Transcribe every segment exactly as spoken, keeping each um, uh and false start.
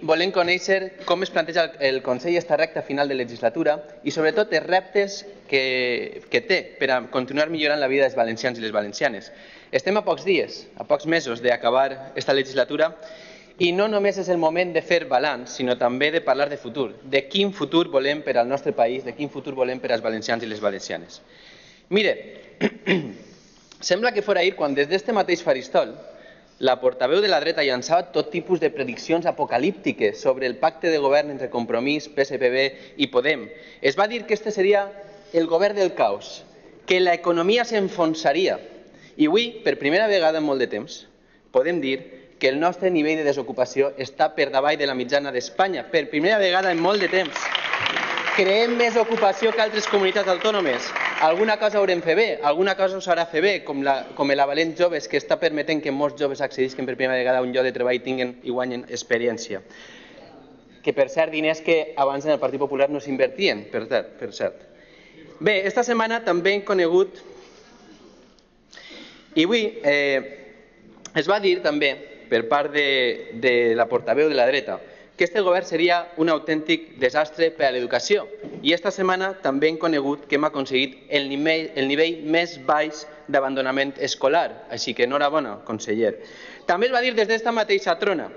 volem conèixer com es planteja el Consell esta recta final de legislatura i sobretot els reptes que, que té per a continuar millorant la vida dels valencians i les valencianes. Estem a pocs dies, a pocs mesos d'acabar esta legislatura i no només és el moment de fer balanç, sinó també de parlar de futur, de quin futur volem per al nostre país, de quin futur volem per als valencians i les valencianes. Mire, sembla que fora ahir quan des d'este mateix faristol la portaveu de la dreta llançava tot tipus de prediccions apocalíptiques sobre el pacte de govern entre Compromís, P S P B i Podem. Es va dir que este seria el govern del caos, que l'economia s'enfonsaria. I avui, per primera vegada en molt de temps, podem dir que el nostre nivell de desocupació està per davall de la mitjana d'Espanya. Per primera vegada en molt de temps. Creem més ocupació que altres comunitats autònomes. Alguna cosa haurem fet bé, alguna cosa s'haurà fet bé, com la, com l'Avalent Joves, que està permetent que molts joves accedisquen per primera vegada a un lloc de treball i tinguin i guanyen experiència. Que, per cert, diners que abans en el Partit Popular no s'invertien, per, per cert. Bé, esta setmana també hem conegut, i avui eh, es va dir també, per part de, de la portaveu de la dreta, que este govern seria un autèntic desastre per a l'educació. I esta setmana també hem conegut que hem aconseguit el nivell, el nivell més baix d'abandonament escolar. Així que enhorabona, conseller. També es va dir des d'esta mateixa trona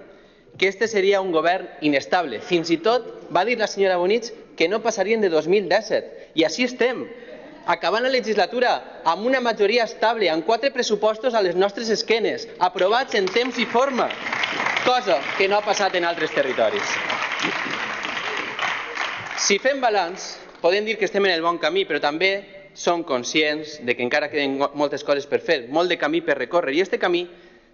que este seria un govern inestable. Fins i tot va dir la senyora Bonich que no passarien de dos mil disset. I així estem, acabant la legislatura amb una majoria estable, amb quatre pressupostos a les nostres esquenes, aprovats en temps i forma, cosa que no ha passat en altres territoris. Si fem balanç, podem dir que estem en el bon camí, però també som conscients de que encara queden moltes coses per fer, molt de camí per recórrer, i aquest camí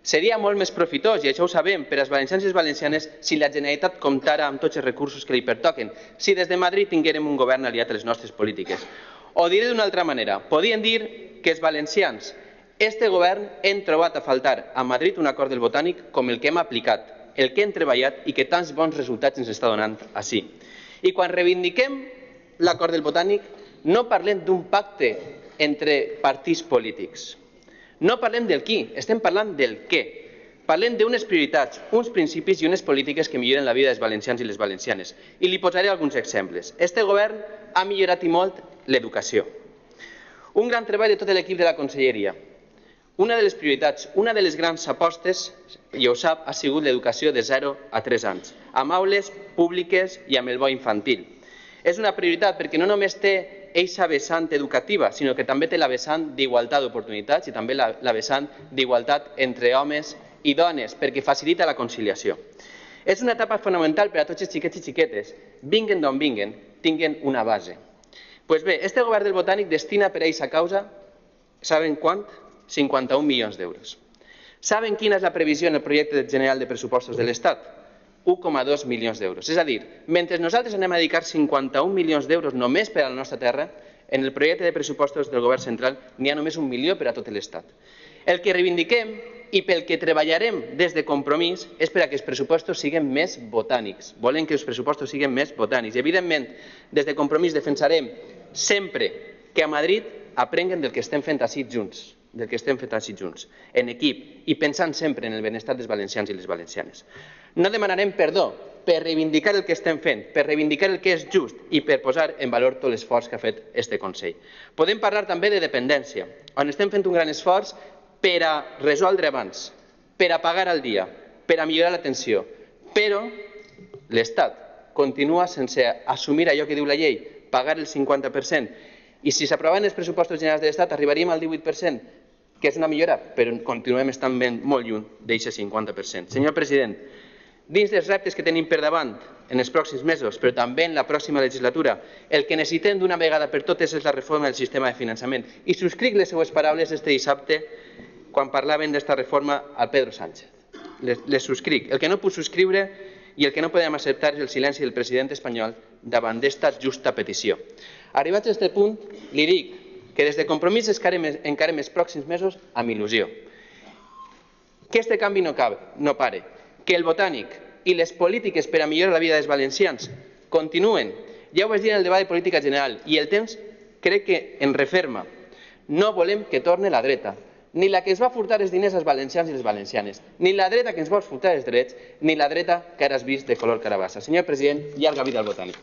seria molt més profitós, i això ho sabem, per als valencians i les valencianes si la Generalitat comptara amb tots els recursos que li pertoquen, si des de Madrid tinguérem un govern aliat a les nostres polítiques. O diré d'una altra manera, podríem dir que els valencians, este govern, hem trobat a faltar a Madrid un acord del Botànic com el que hem aplicat, el que hem treballat i que tants bons resultats ens està donant així. I quan reivindiquem l'acord del Botànic, no parlem d'un pacte entre partits polítics. No parlem del qui, estem parlant del què. Parlem d'unes prioritats, uns principis i unes polítiques que milloren la vida dels valencians i les valencianes. I li posaré alguns exemples. Este govern ha millorat i molt l'educació. Un gran treball de tot l'equip de la conselleria. Una de les prioritats, una de les grans apostes, i ho sap, ha sigut l'educació de zero a tres anys, amb aules públiques i amb el bo infantil. És una prioritat perquè no només té eixa vessant educativa, sinó que també té la vessant d'igualtat d'oportunitats i també la, la vessant d'igualtat entre homes i dones, perquè facilita la conciliació. És una etapa fonamental per a tots els xiquets i xiquetes, vinguen d'on vinguen, tinguen una base. Pues bé, este govern del Botànic destina per a eixa causa, saben quant? cinquanta-un milions d'euros. Saben quina és la previsió en el projecte general de pressupostos de l'Estat? un coma dos milions d'euros. És a dir, mentre nosaltres anem a dedicar cinquanta-un milions d'euros només per a la nostra terra, en el projecte de pressupostos del govern central n'hi ha només un milió per a tot l'Estat. El que reivindiquem i pel que treballarem des de Compromís és per a que els pressupostos siguin més botànics. Volem que els pressupostos siguin més botànics. I, evidentment, des de Compromís defensarem sempre que a Madrid aprenguen del que estem fent així junts. del que estem fent així junts, en equip i pensant sempre en el benestar dels valencians i les valencianes. No demanarem perdó per reivindicar el que estem fent, per reivindicar el que és just i per posar en valor tot l'esforç que ha fet este Consell. Podem parlar també de dependència, on estem fent un gran esforç per a resoldre abans, per a pagar al dia, per a millorar l'atenció, però l'Estat continua sense assumir allò que diu la llei, pagar el cinquanta per cent, i si s'aproven els pressupostos generals de l'Estat arribaríem al divuit per cent, que és una millora, però continuem estant molt lluny d'aquest cinquanta per cent. Senyor president, dins dels reptes que tenim per davant en els pròxims mesos, però també en la pròxima legislatura, el que necessitem d'una vegada per totes és la reforma del sistema de finançament. I subscric les seues paraules este dissabte quan parlaven d'esta reforma al Pedro Sánchez. Les, les subscric. El que no puc subscriure i el que no podem acceptar és el silenci del president espanyol davant d'esta justa petició. Arribats a aquest punt, li dic que des de Compromís encarem els pròxims mesos amb il·lusió. Que este canvi no, cabe, no pare, que el Botànic i les polítiques per a millorar la vida dels valencians continuen. Ja ho vaig dir en el debat de política general i el temps crec que en referma. No volem que torni la dreta, ni la que es va furtar els diners als valencians i les valencianes, ni la dreta que ens vol furtar els drets, ni la dreta que ara has vist de color carabassa. Senyor president, llarga vida al Botànic.